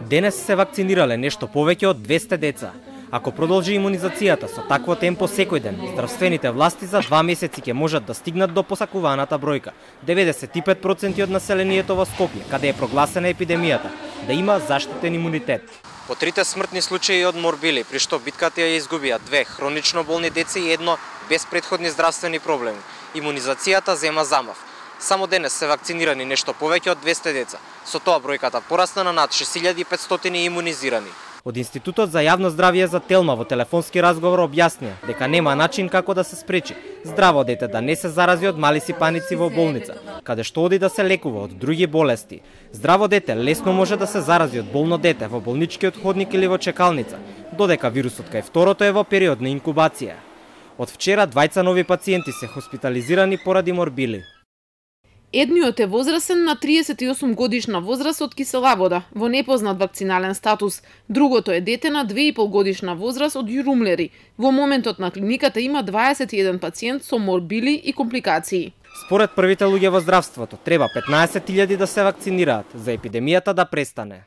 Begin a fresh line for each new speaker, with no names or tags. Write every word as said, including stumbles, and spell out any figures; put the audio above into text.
Денес се вакцинирале нешто повеќе од двесте деца. Ако продолжи имунизацијата со такво темпо секој ден, здравствените власти за два месеци ќе можат да стигнат до посакуваната бројка. деветдесет и пет проценти од населението во Скопје, каде е прогласена епидемијата, да има заштитен имунитет. По трите смртни случаи од морбили, при што битката ја изгубија две хронично болни деца и едно без претходни здравствени проблеми, имунизацијата зема замав. Само денес се вакцинирани нешто повеќе од двесте деца. Со тоа бројката порасна на над шест илјади и петстотини имунизирани. Од Институтот за јавно здравје за Телма во телефонски разговор објаснија дека нема начин како да се спречи здраво дете да не се зарази од мали сипаници во болница, каде што оди да се лекува од други болести. Здраво дете лесно може да се зарази од болно дете во болничкиот ходник или во чекалница, додека вирусот кај второто е во период на инкубација. Од вчера двајца нови пациенти се хоспитализирани поради морбили.
Едниот е возрастен на триесет и осум годишна возраст од Кисела Вода, во непознат вакцинален статус. Другото е дете на две и пол годишна возраст од Јурумлери. Во моментот на клиниката има дваесет и еден пациент со морбили и компликации.
Според првите луѓе во здравството, треба петнаесет илјади да се вакцинираат за епидемијата да престане.